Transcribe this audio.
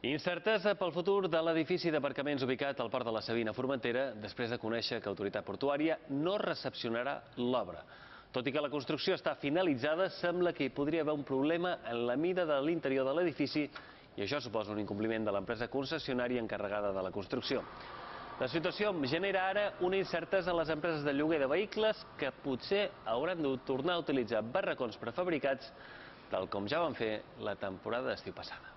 Incertesa pel futur de l'edifici d'aparcaments ubicat al port de la Savina a Formentera després de conèixer que Autoritat Portuària no recepcionarà l'obra. Tot i que la construcció està finalitzada, sembla que hi podria haver un problema en la mida de l'interior de l'edifici i això suposa un incompliment de l'empresa concessionària encarregada de la construcció. La situació genera ara una incertesa a les empreses de lloguer de vehicles que potser hauran de tornar a utilitzar barracons prefabricats tal com ja van fer la temporada d'estiu passada.